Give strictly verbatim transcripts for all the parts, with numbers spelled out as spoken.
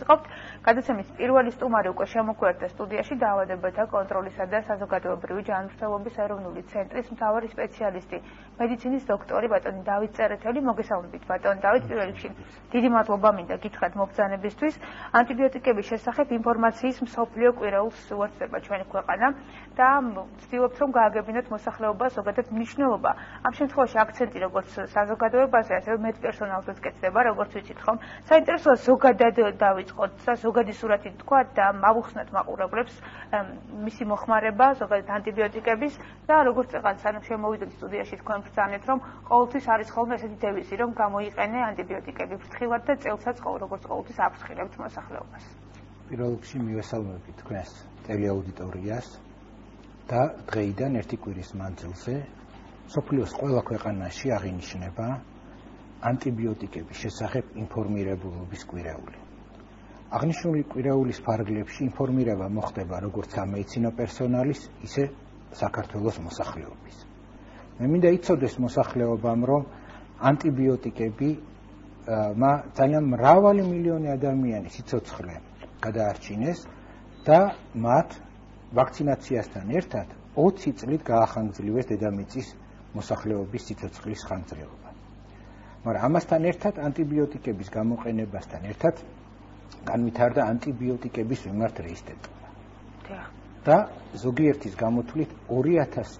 ვიწყობთ. გადაცემის პირველი სტუმარი უკვე შემოგვიერთდა სტუდიაში დაავადებათა კონტროლისა და საზოგადოებრივი ჯანმრთელობის ეროვნული ცენტრის მთავარი სპეციალისტი, მედიცინის დოქტორი ბატონი დავით წერეთელი. მოგესალმებით ბატონ დავით, პირველ რიგში დიდი მადლობა მინდა გითხრათ მობრძანებისთვის. ანტიბიოტიკების შესახებ ინფორმაციის მსოფლიო კვირაულს უერთდება ჩვენი ქვეყანა და ვცდილობთ რომ გააგებინოთ მოსახლეობას ზოგადად მნიშვნელობა. ამ შემთხვევაში აქცენტი როგორც საზოგადოებაზე, ასევე მედპერსონალზეც კეთდება, როგორც ვიცით ხომ. საინტერესოა ზოგადად დავიწყოთ და ზოგადი სურათი თქვა და ავუხსნათ მაყურებლებს მისი მოხმარება ზოგადად ანტიბიოტიკების და როგორც წეგან სანამ შემოვიდეთ სტუდიაში თქვენ ბრძანეთ რომ ყოველთვის არის ხოლმე ესეთი დევიზი რომ გამოიყენე ანტიბიოტიკები ფრთხილად და წელსაც როგორც ყოველთვის აფრთხილებთ მოსახლეობას. პირველ რიგში მივესალმები თქვენს ტელეაუდიტორიას და დღეიდან ერთი კვირის მანძილზე მსოფლიოს ყველა ქვეყანაში აღინიშნება ანტიბიოტიკების შესახებ ინფორმირებულობის კვირეული. აღნიშნული კვირეულის ფარგლებში ინფორმირება მოხდება როგორც სამედიცინო პერსონალის, ისე საქართველოს მოსახლეობის. მე მინდა იცოდეს მოსახლეობამ, რომ ანტიბიოტიკები მა ძალიან მრავალი მილიონი ადამიანი სიცოცხლე გადაარჩინეს და მათ ვაქცინაციასთან ერთად ოცი წლით გაახანგრძლიwes დედამიწის მოსახლეობის სიცოცხლის ხანგრძლივობა. მაგრამ ამასთან ერთად ანტიბიოტიკების გამოყენებასთან ერთად განვითარდა ანტიბიოტიკების მიმართ რეზისტენტობა. და ზოგიერთის გამოთვლით ორი ათას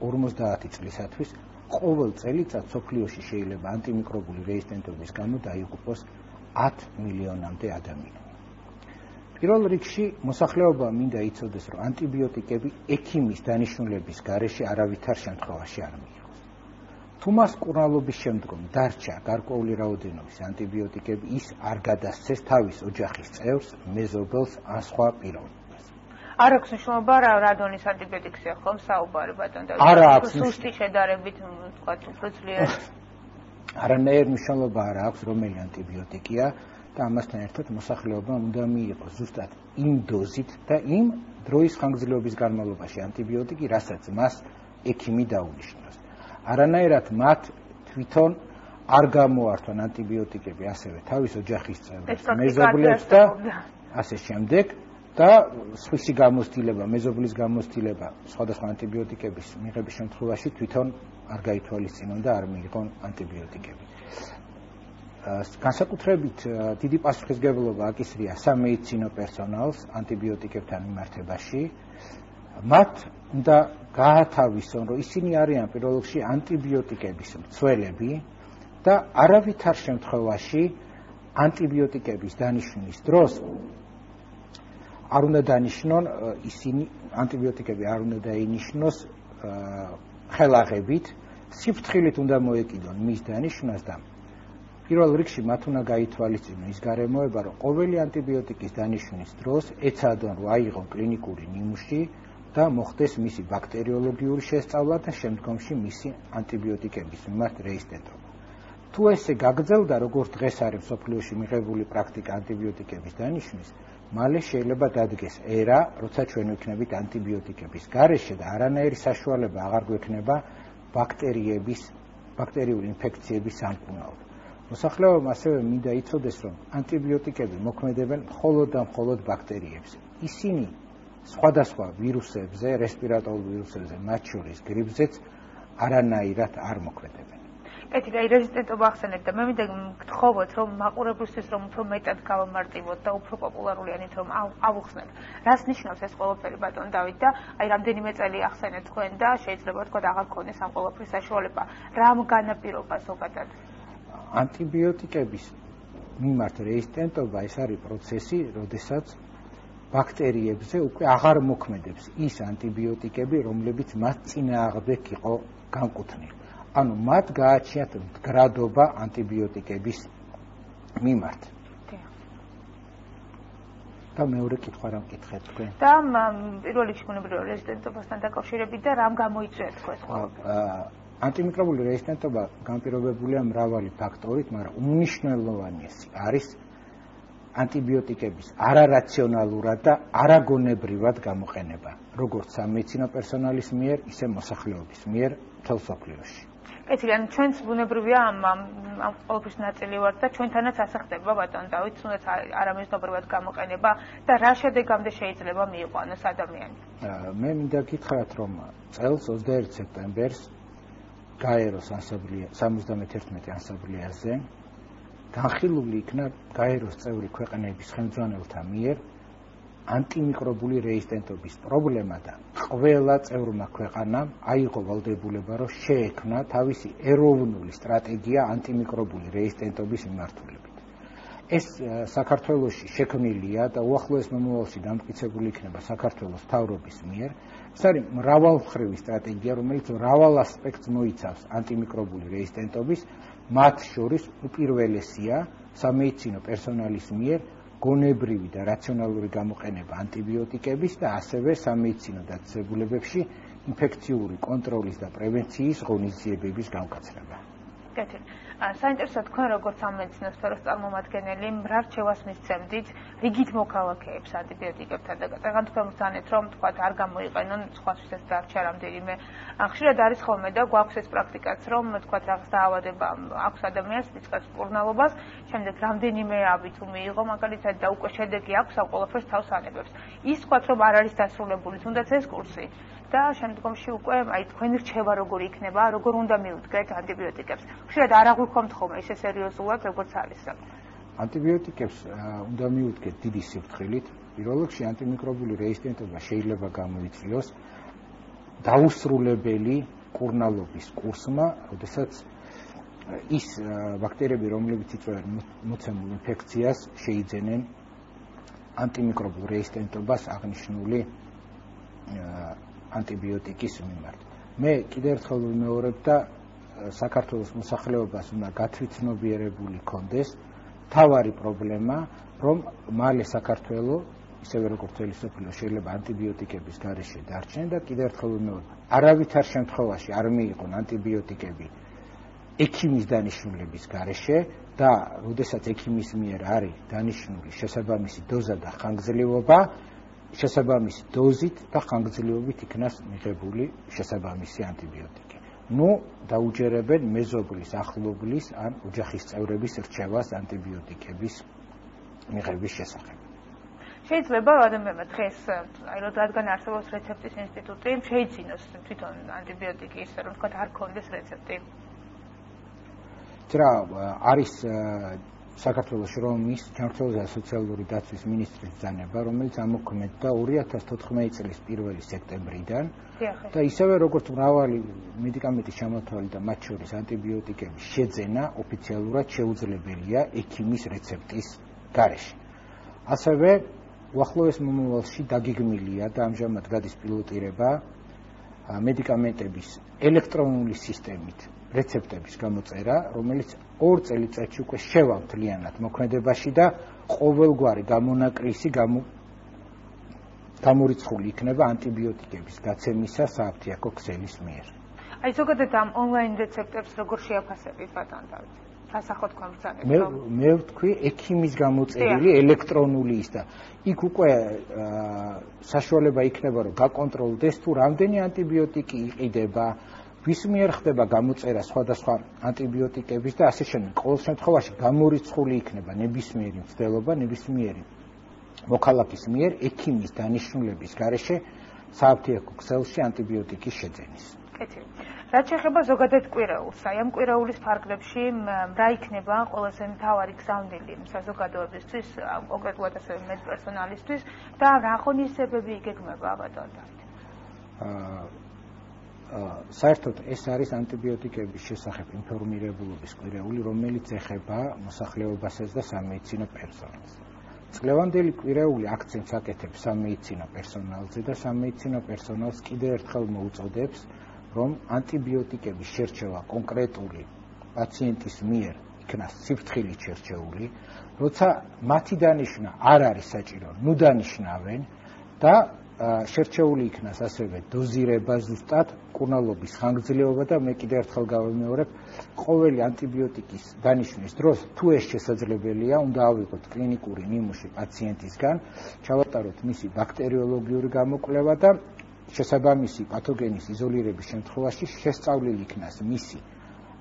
ორმოცდაათი წლისათვის ყოველ წელიწად სოფლიოში შეიძლება ანტიმიკრობული რეზისტენტობის გამო დაიღუპოს ათი მილიონამდე ადამიანი. პირველ რიგში მოსახლეობა მინდა იცოდეს, რომ ანტიბიოტიკები ექიმის დანიშნულების გარეშე არავითარ შემთხვევაში არ მიიღოს. თუ მას მკურნალობის შემდგომ დარჩა გარკვეული რაოდენობის ანტიბიოტიკები, ის არ გადასცეს თავის ოჯახის წევრს, მეზობელს ან სხვა პიროვნებას. არ აქვს მნიშვნელობა რა რადონის ანტიბიოტიკია ხომ საუბარი ბატონ და სუსტი შედარებით თქვა უფრო ძლიერ. არანაირ მნიშვნელობა არ აქვს რომელი ანტიბიოტიკია და ამასთან ერთად მოსახლეობა უნდა მიიღოს ზუსტად იმ დოზით და იმ დროის ხანგრძლივობის განმავლობაში ანტიბიოტიკი, რასაც მას ექიმი დაუნიშნავს. არანაირად მათ თვითონ არ გამოართვან ანტიბიოტიკები ასევე თავის ოჯახის წევრებს, მეზობლებს და ასე შემდეგ და სხვისი გამოცდილება, მეზობლის გამოცდილება სხვადასხვა ანტიბიოტიკების მიღების შემთხვევაში თვითონ არ გაითვალისწინონ და არ მიიღონ ანტიბიოტიკები. განსაკუთრებით დიდი პასუხისმგებლობა აკისრია სამედიცინო პერსონალს ანტიბიოტიკებთან მიმართებაში. მათ უნდა გაათავისონ, რომ ისინი არიან პირველ რიგში ანტიბიოტიკების მცველები და არავითარ შემთხვევაში ანტიბიოტიკების დანიშვნის დროს არ უნდა დანიშნონ ისინი ანტიბიოტიკები არ უნდა დაინიშნოს ხელაღებით, სიფრთხილით უნდა მოეკიდონ მის დანიშვნას და პირველ რიგში მათ უნდა გაითვალისწინონ ის გარემოება, რომ ყოველი ანტიბიოტიკის დანიშვნის დროს ეცადონ რომ აიღონ კლინიკური ნიმუში და მოხდეს მისი ბაქტერიოლოგიური შესწავლა და შემდგომში მისი ანტიბიოტიკების მიმართ რეზისტენტობა. თუ ესე გაგრძელდა, როგორც დღეს არის მსოფლიოში მიღებული პრაქტიკა ანტიბიოტიკების დანიშვნის, მალე შეიძლება დადგეს ერა, როცა ჩვენ ვიქნებით ანტიბიოტიკების გარეშე და არანაირი საშუალება აღარ გვექნება ბაქტერიების, ბაქტერიული ინფექციების სამკურნალოდ. მოსახლეობამ ასევე მინდა იცოდეს, რომ ანტიბიოტიკები მოქმედებენ მხოლოდ და მხოლოდ ბაქტერიებზე. ისინი სხვადასხვა ვირუსებზე, რესპირატორულ ვირუსებზე, მათ შორის გრიპზეც არანაირად არ მოქმედებენ. ეთიკა რეზისტენტობა ახსენეთ და მე მინდა გთხოვოთ, რომ მაყურებლისთვის რომ უფრო მეტად გავამარტივოთ და უფრო პოპულარულიანით რომ ავუხსნათ. რას ნიშნავს ეს ყველაფერი ბატონ დავით და აი რამდენიმე წელი ახსენეთ თქვენ და შეიძლება თქვა აღარ გქონდეს ამ ყველაფრის საშუალება. რამ განაპირობა ზოგადად? ანტიბიოტიკების მიმართ რეზისტენტობა ეს არის პროცესი, როდესაც ბაქტერიებზე უკვე აღარ მოქმედებს ის ანტიბიოტიკები, რომლებიც მათ წინააღმდეგ იყო განკუთვნილი. ანუ მათ გააჩნიათ მდგრადობა ანტიბიოტიკების მიმართ. და მეორე კითხვა რა მკითხეთ თქვენ? და პირველ რიგში ბუნებრივი რეზისტენტობასთან დაკავშირებით და რამ გამოიწვია თქვენ ყველაფერი? ანტიმიკრობული რეზისტენტობა განპირობებულია მრავალი ფაქტორით, მაგრამ უმნიშვნელოვანესი არის ანტიბიოტიკების არარაციონალურად და არაგონებრივად გამოყენება, როგორც სამედიცინო პერსონალის მიერ, ისე მოსახლეობის მიერ მთელ მსოფლიოში. ეცი ან ჩვენც ბუნებრივია ამ ამ ყოველთვის ნაწილი ვართ და ჩვენთანაც ასე ხდება ბატონ დავით, თუნდაც არამეზნობრივად გამოყენება და რა შედეგამდე შეიძლება მიიყვანოს ადამიანი. მე მინდა გითხრათ, რომ წელს ოცდაერთი სექტემბერს გაეროს სამოცდამეთერთმეტე ასამბლეაზე განხილული იქნა გაეროს წევრი ქვეყნების ხელმძღვანელთა მიერ ანტიმიკრობული რეზისტენტობის პრობლემა და ყველა წევრმა ქვეყანამ აიღო ვალდებულება, რომ შეექმნა თავისი ეროვნული სტრატეგია ანტიმიკრობული რეზისტენტობის მიმართულებით. ეს საქართველოში შექმნილია და უახლოეს მომავალში დამტკიცებული იქნება საქართველოს მთავრობის მიერ. ეს არის მრავალმხრივი სტრატეგია, რომელიც მრავალ ასპექტს მოიცავს ანტიმიკრობული რეზისტენტობის, მათ შორის უპირველესია სამედიცინო პერსონალის მიერ გონებრივი და რაციონალური გამოყენება ანტიბიოტიკების და ასევე სამედიცინო დაწესებულებებში ინფექციური კონტროლის და პრევენციის ღონისძიებების გამკაცრება. კეთილი. საინტერესო თქვენ როგორც სამედიცინო სფეროს წარმომადგენელი რა რჩევას მისცემდით რიგით მოქალაქეებს ანტიბიოტიკებთან და წეგან თქვენ ვსანეთ რომ თქვა არ გამოიყენონ სხვასთვის ეს დარჩა რამდენიმე ხშირად არის ხოლმე და გვაქვს ეს პრაქტიკაც რომ თქვა რაღაც დაავადება აქვს ადამიანს იწყებს მკურნალობას შემდეგ რამდენიმე აბი თუ მიიღო მაგალითად და უკვე შედეგი აქვს ამ ყველაფერს თავს ანებებს ის თქვა რომ არ არის დასრულებული თუნდაც ეს კურსი და შემდგომში უკვე აი თქვენი რჩევა როგორი იქნება, როგორ უნდა მიუდგეთ ანტიბიოტიკებს. ხშირად არ აღვიქომთ ხოლმე ისე სერიოზულად, როგორც არის საკითხი. ანტიბიოტიკებს უნდა მიუდგეთ დიდი სიფრთხილით. პირველ რიგში ანტიმიკრობული რეზისტენტობა შეიძლება გამოიწვიოს დაუსრულებელი მკურნალობის კურსმა, როდესაც ის ბაქტერიები, რომლებიც იწვევენ მოცემულ ინფექციას, შეიძენენ ანტიმიკრობულ რეზისტენტობას აღნიშნული ანტიბიოტიკის მიმართ. მე კიდევ ერთხელ ვიმეორებ და საქართველოს მოსახლეობას უნდა გათვითცნობიერებული კონდეს თავარი პრობლემა, რომ მალე საქართველო, ისევე როგორც მთელი სოფლიო შეიძლება ანტიბიოტიკების გარეშე დარჩენ და კიდევ ერთხელ ვიმეორებ, არავითარ შემთხვევაში არ მიიღონ ანტიბიოტიკები ექიმის დანიშნულების გარეშე და როდესაც ექიმის მიერ არის დანიშნული შესაბამისი დოზა და ხანგრძლივობა შესაბამისი დოზით და ხანგრძლივობით იქნას მიღებული შესაბამისი ანტიბიოტიკი. ნუ დაუჯერებენ მეზობლის, ახლობლის ან ოჯახის წევრების რჩევას ანტიბიოტიკების მიღების შესახებ. შეიძლება ადამიანმა დღეს აი რადგან არსებობს რეცეპტის ინსტიტუტი, შეიცინოს თვითონ ანტიბიოტიკი ისე რომ თქვა არ ქონდეს რეცეპტი. რა არის საქართველოს რომის ჯანმრთელობის და სოციალური დაცვის მინისტრის ბრძანება, რომელიც ამოქმედდა ორი ათას თოთხმეტი წლის პირველი სექტემბრიდან და ისევე როგორც მრავალი მედიკამენტის ჩამოთვალი და მათ შორის ანტიბიოტიკების შეძენა ოფიციალურად შეუძლებელია ექიმის რეცეპტის გარეშე. ასევე უახლოეს მომავალში დაგეგმილია და ამჟამად გადის პილოტირება მედიკამენტების ელექტრონული სისტემით რეცეპტების გამოწერა, რომელიც ორ წელიწადში უკვე შევა მთლიანად მოქმედებაში და ყოველგვარი გამონაკლისი გამორიცხული იქნება ანტიბიოტიკების გაცემისა სააფთიაქო ქსელის მიერ. აი ზოგადად ამ ონლაინ რეცეპტებს როგორ შეაფასებით ბატონ დავით? სასახოთ თქვენ ბრძანებს მე მე ვთქვი ექიმის გამოწერილი ელექტრონული ის და იქ უკვე საშუალება იქნება რომ გაკონტროლდეს თუ რამდენი ანტიბიოტიკი იყიდება ვის მიერ ხდება გამოწერა სხვადასხვა ანტიბიოტიკების და ასე შემდეგ. ყოველ შემთხვევაში გამორიცხული იქნება ნებისმიერი მცდელობა, ნებისმიერი მოქალაქის მიერ ექიმის დანიშნულების გარეშე სააფთიაქო ქსელში ანტიბიოტიკის შეძენის. კეთილი. რაც შეეხება ზოგადად კვირეულს, აი ამ კვირეულის ფარგლებში რა იქნება ყველაზე მთავარი გზავნილი საზოგადოებისთვის, კონკრეტულად ასევე მედპერსონალისთვის და რა ღონისძიებები იგეგმება ბატონ დავით? საერთოდ ეს არის ანტიბიოტიკების შესახებ ინფორმირებულობის კვირეული, რომელიც ეხება მოსახლეობასაც და სამედიცინო პერსონალს. წლევანდელი კვირეული აქცენტს აკეთებს სამედიცინო პერსონალზე და სამედიცინო პერსონალს კიდევ ერთხელ მოუწოდებს, რომ ანტიბიოტიკების შერჩევა კონკრეტული პაციენტის მიერ იქნას სიფრთხილით შერჩეული, როცა მათი დანიშვნა არ არის საჭირო, ნუ დანიშნავენ და შერჩეული იქნას ასევე დოზირება ზუსტად, მკურნალობის ხანგრძლივობა და მე კიდევ ერთხელ გავიმეორებ, ყოველი ანტიბიოტიკის დანიშვნის დროს, თუ ეს შესაძლებელია, უნდა ავიღოთ კლინიკური ნიმუში პაციენტისგან, ჩავატაროთ მისი ბაქტერიოლოგიური გამოკვლევა და შესაბამისი პათოგენის იზოლირების შემთხვევაში შესწავლილი იქნას მისი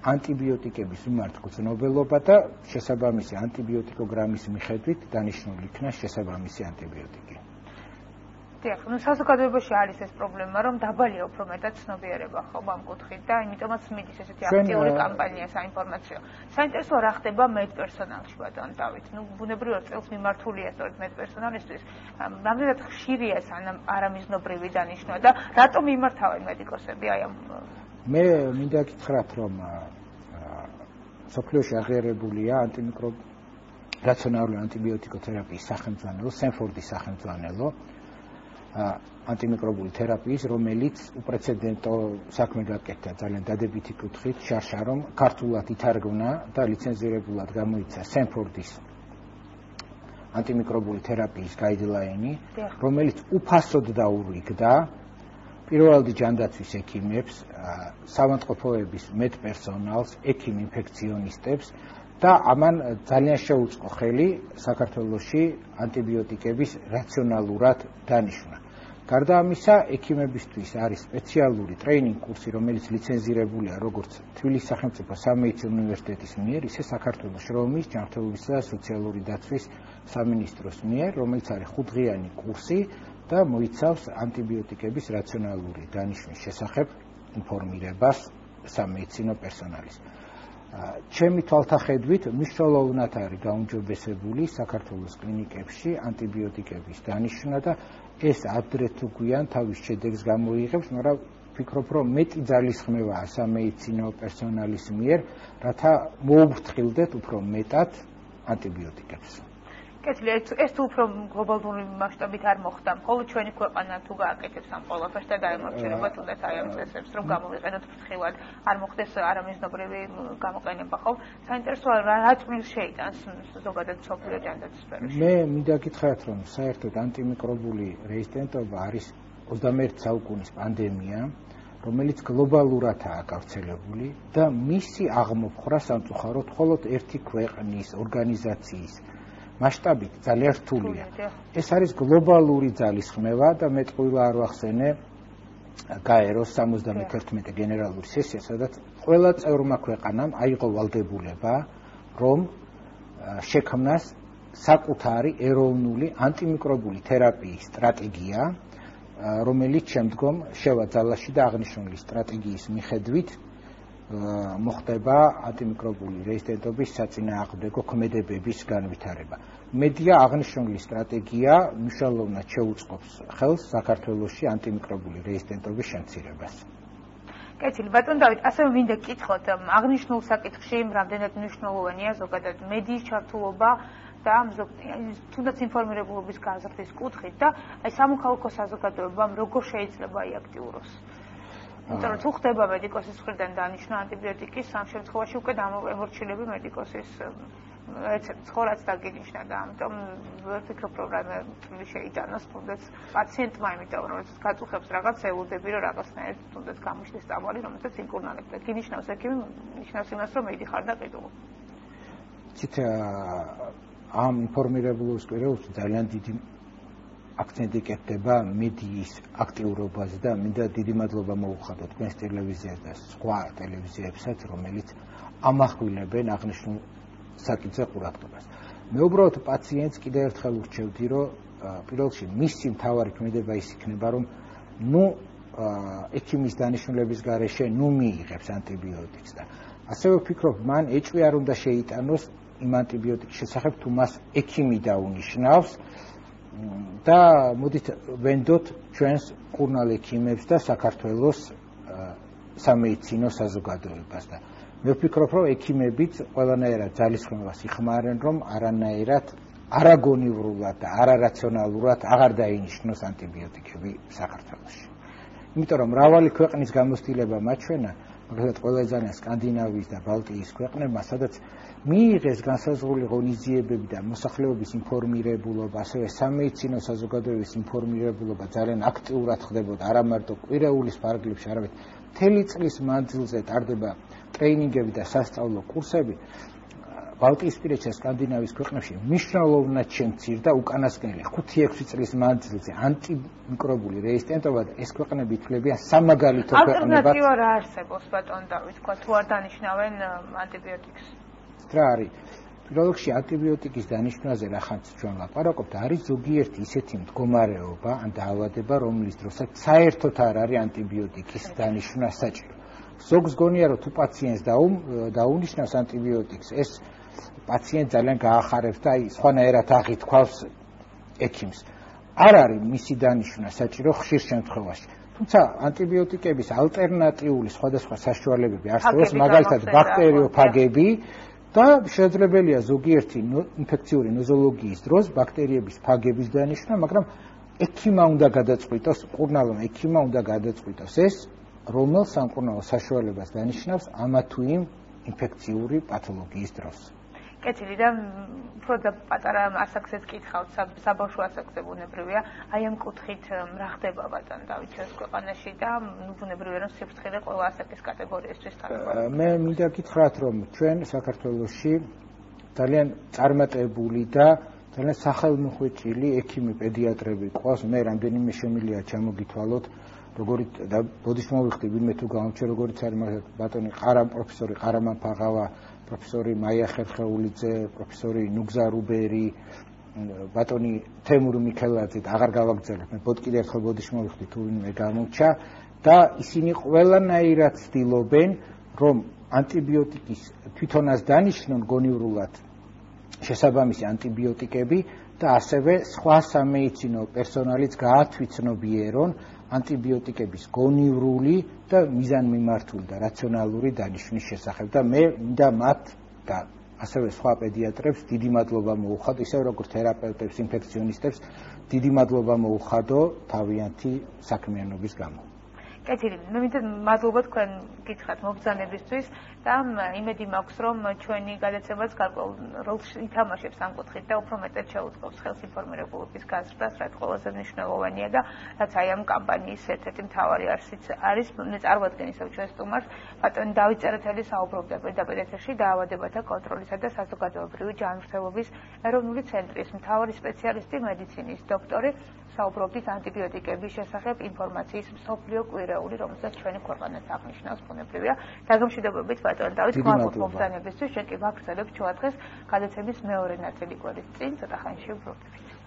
ანტიბიოტიკების მიმართ გრძნობელობა და შესაბამისი ანტიბიოტიკოგრამის მიხედვით დანიშნული იქნა შესაბამისი ანტიბიოტიკი. დიახ, ну საზოგადოებაში არის ეს პრობლემა, რომ დაბალია უფრო მეტად ცნობიერება ხო ამ კუთხით და იმიტომაც მიდის ესეთი აქტიური კამპანია საინფორმაციო. საინტერესოა რა ხდება მედპერსონალში ბატონ დავით. ну ბუნებრივად წელს მიმართულია სწორედ მედპერსონალისთვის. რამდენად ხშირია სანამ არამიზნობრივი დანიშნვა და რატომ იმართავენ მედიკოსები აი ამ მე მინდა გითხრათ რომ სოფლიოში აღიარებულია ანტიმიკრობ რაციონალური ანტიბიოტიკოთერაპიის სახელმძღვანელო, სენფორდის სახელმძღვანელო ანტიმიკრობული თერაპიის, რომელიც უპრეცედენტო საქმე გაკეთდა ძალიან დადებითი კუთხით, შარშა რომ ქართულად ითარგმნა და ლიცენზირებულად გამოიცა სენფორდის ანტიმიკრობული თერაპიის გაიდლაინი, რომელიც უფასოდ დაურიგდა პირველადი ჯანდაცვის ექიმებს, საავადმყოფოების მედპერსონალს, ექიმ ინფექციონისტებს და ამან ძალიან შეუწყო ხელი საქართველოში ანტიბიოტიკების რაციონალურად დანიშვნა. გარდა ამისა, ექიმებისთვის არის სპეციალური ტრეინინგ კურსი, რომელიც ლიცენზირებულია როგორც თბილისის სახელმწიფო სამედიცინო უნივერსიტეტის მიერ, ისე საქართველოს შრომის, ჯანმრთელობისა და სოციალური დაცვის სამინისტროს მიერ, რომელიც არის ხუთდღიანი კურსი და მოიცავს ანტიბიოტიკების რაციონალური დანიშვნის შესახებ ინფორმირებას სამედიცინო პერსონალის. ჩემი თვალთახედვით მნიშვნელოვნად არის გაუმჯობესებული საქართველოს კლინიკებში ანტიბიოტიკების დანიშვნა და ეს ადრე თუ გვიან თავის შედეგს გამოიღებს, მაგრამ ვფიქრობ, რომ მეტი ძალისხმევაა სამედიცინო პერსონალის მიერ, რათა მოუფრთხილდეთ უფრო მეტად ანტიბიოტიკებს. კეთილი, ეს თუ უფრო გლობალური მასშტაბით არ მოხდა, მხოლოდ ჩვენი ქვეყანა თუ გააკეთებს ამ ყველაფერს და დაემორჩილება თუნდაც აი ამ წესებს, რომ გამოვიყენოთ ფრთხილად, არ მოხდეს არამიზნობრივი გამოყენება, ხო? საინტერესოა რა წვლილს შეიტანს ზოგადად მსოფლიო ჯანდაცვის სფეროში. მე მინდა გითხრათ, რომ საერთოდ ანტიმიკრობული რეზისტენტობა არის ოცდამეერთე საუკუნის პანდემია, რომელიც გლობალურადაა გავრცელებული და მისი აღმოფხვრა სამწუხაროდ მხოლოდ ერთი ქვეყნის ორგანიზაციის მასშტაბით ძალიან რთულია. ეს არის გლობალური ძალისხმევა და მე ტყუილა არ ვახსენე გაეროს სამოცდამეთერთმეტე გენერალური სესია, სადაც ყველა წევრმა ქვეყანამ აიღო ვალდებულება, რომ შექმნას საკუთარი ეროვნული ანტიმიკრობული თერაპიის სტრატეგია, რომელიც შემდგომ შევა ძალაში და აღნიშნული სტრატეგიის მიხედვით მოხდება ანტიმიკრობული რეზისტენტობის საწინააღმდეგო ქმედებების განვითარება. მედია აღნიშნული სტრატეგია მნიშვნელოვნად შეუწყობს ხელს საქართველოში ანტიმიკრობული რეზისტენტობის შემცირებას. კეთილი, ბატონ დავით, ასევე მინდა გკითხოთ, აღნიშნულ საკითხში რამდენად მნიშვნელოვანია ზოგადად მედიის ჩართულობა და თუნდაც ინფორმირებულობის გაზრდის კუთხით და აი სამოქალაქო საზოგადოებამ როგორ შეიძლება იაქტიუროს. იმიტომ რომ თუ ხდება მედიკოსის მხრიდან დანიშნა ანტიბიოტიკის, ამ შემთხვევაში უკვე დამემორჩილები მედიკოსის რეცეპტს ხორაც დაგინიშნა და ამიტომ ვფიქრობ, რომ რამე წვლილი შეიტანოს თუნდაც პაციენტმა, იმიტომ რომ გაწუხებს რაღაც ელოდები, რომ რაღაცნაირად თუნდაც გამოჩნდეს წამალი, რომელსაც იმკურნალებს და გინიშნავს ექიმი, ნიშნავს იმას, რომ მედიხარ და ყიდულ. ცით ამ ინფორმირებულობის სფეროში ძალიან დიდი აქცენტი კეთდება მედიის აქტიურობაზე და მინდა დიდი მადლობა მოუხადო თქვენს ტელევიზიას და სხვა ტელევიზიებსაც, რომელიც ამახვილებენ აღნიშნულ საკითხზე ყურადღებას. მე უბრალოდ პაციენტს კიდევ ერთხელ ურჩევდი, რომ პირველ რიგში მისი მთავარი ქმედება ის იქნება, რომ ნუ ექიმის დანიშნულების გარეშე ნუ მიიღებს ანტიბიოტიკს და ასევე ვფიქრობ, მან ეჭვი არ უნდა შეიტანოს იმ ანტიბიოტიკის შესახებ, თუ მას ექიმი დაუნიშნავს და მოდით ვენდოთ ჩვენს მკურნალ ექიმებს და საქართველოს სამედიცინო საზოგადოებას და მე ვფიქრობ, რომ ექიმებიც ყველანაირად ძალისხმევას იხმარენ, რომ არანაირად არაგონივრულად და არარაციონალურად აღარ დაინიშნოს ანტიბიოტიკები საქართველოში. იმიტომ რომ მრავალი ქვეყნის გამოცდილება მაჩვენა, მაგალითად ყველა ძალიან სკანდინავიის და ბალტიის ქვეყნებმა, სადაც მიიღეს განსაზღვრული ღონისძიებები და მოსახლეობის ინფორმირებულობა, ასევე სამედიცინო საზოგადოების ინფორმირებულობა ძალიან აქტიურად ხდებოდა, არა მარტო კვირეულის ფარგლებში, არამედ მთელი წლის მანძილზე ტარდება ტრეინინგები და სასწავლო კურსები. ბალტიისპირეთსა სკანდინავიის ქვეყნებში მნიშვნელოვნად შემცირდა უკანასკნელი ხუთი ექვსი წლის მანძილზე ანტიმიკრობული რეზისტენტობა და ეს ქვეყნები ითვლებიან სამაგალითო ქვეყნებად. ალტერნატივა რა არსებობს ბატონ დავით, თქვა თუ არ დანიშნავენ ანტიბიოტიკს? რა არის? პირველ რიგში ანტიბიოტიკის დანიშვნაზე რახანც ჩვენ ლაპარაკობთ, არის ზოგიერთი ისეთი მდგომარეობა ან დაავადება, რომლის დროსაც საერთოდ არ არის ანტიბიოტიკის დანიშვნა საჭირო. ზოგს გონია, რომ თუ პაციენტს დაუნიშნავს ანტიბიოტიკს, ეს პაციენტ ძალიან გაახარებს და აი სხვანაირად აღითქვავს ექიმს. არ არის მისი დანიშვნა საჭირო ხშირ შემთხვევაში. თუმცა ანტიბიოტიკების ალტერნატიული სხვადასხვა საშუალებები არსებობს, მაგალითად ბაქტერიოფაგები და შესაძლებელია ზოგიერთი ინფექციური ნოზოლოგიის დროს ბაქტერიების ფაგების დანიშვნა, მაგრამ ექიმა უნდა გადაწყვიტოს, მკურნალმა ექიმა უნდა გადაწყვიტოს ეს, რომელ სამკურნალო საშუალებას დანიშნავს ამა თუ იმ ინფექციური პათოლოგიის დროს. კეთილი და უფრო და პატარა ასაკსაც კითხავთ, საბავშვო ასაკზე ბუნებრივია, აი ამ კუთხით რა ხდება ბატონ დავით ჩვენს ქვეყანაში და ბუნებრივია რომ სიფრთხილე ყველა ასაკის კატეგორიისთვის თანაბარი. მე მინდა გითხრათ, რომ ჩვენ საქართველოში ძალიან წარმატებული და ძალიან სახელმოხვეჭილი ექიმი პედიატრები ყავს. მე რამდენიმე შემიძლია ჩამოგითვალოთ, როგორი და ბოდიშ მოვიხდი ვინმე თუ გამორჩა, როგორიც არის მაგალითად ბატონი ყარამ პროფესორი ყარამან ფაღავა, პროფესორი მაია ხერხეულიძე, პროფესორი ნუგზა რუბერი, ბატონი თემურ მიქელაძე და აღარ გავაგრძელებ. მე ბოდ კიდე ერთხელ ბოდიშ მოვიხდი თუ ვინმე გამორჩა და ისინი ყველანაირად ცდილობენ, რომ ანტიბიოტიკის თვითონაც დანიშნონ გონივრულად შესაბამისი ანტიბიოტიკები და ასევე სხვა სამედიცინო პერსონალიც გაათვითცნობიერონ ანტიბიოტიკების გონივრული და მიზანმიმართული და რაციონალური დანიშვნის შესახებ და მე მინდა მათ და ასევე სხვა პედიატრებს დიდი მადლობა მოუხადო, ისე როგორც თერაპევტებს, ინფექციონისტებს დიდი მადლობა მოუხადო თავიანთი საქმიანობის გამო. კეთილი, მე მინდა მადლობა თქვენ გითხრათ მობრძანებისთვის და იმედი მაქვს, რომ ჩვენი გადაცემაც გარკვეულ როლს ითამაშებს ამ კუთხით და უფრო მეტად შეუწყობს ხელს ინფორმირებულობის გაზრდას, რაც ყველაზე მნიშვნელოვანია და რაც აი ამ კამპანიის ერთ-ერთი მთავარი არსიც არის. მე წარმოადგენ ისევ ჩვენ სტუმარს, ბატონი დავით წერეთელი საუბრობდა პირდაპირ ეთერში დაავადებათა კონტროლისა და საზოგადოებრივი ჯანმრთელობის ეროვნული ცენტრის მთავარი სპეციალისტი, მედიცინის დოქტორი, საუბრობდით ანტიბიოტიკების შესახებ ინფორმაციის მსოფლიო კვირეული, რომელსაც ჩვენი ქვეყანაც აღნიშნავს ბუნებრივია. დაგემშვიდობებით ბატონ დავით, გმადლობთ მობრძანებისთვის, ჩვენ კი ვაგრძელებთ შუადღეს გადაცემის მეორე ნაწილი კვირის წინ, ცოტა ხანში ვბრუნდებით.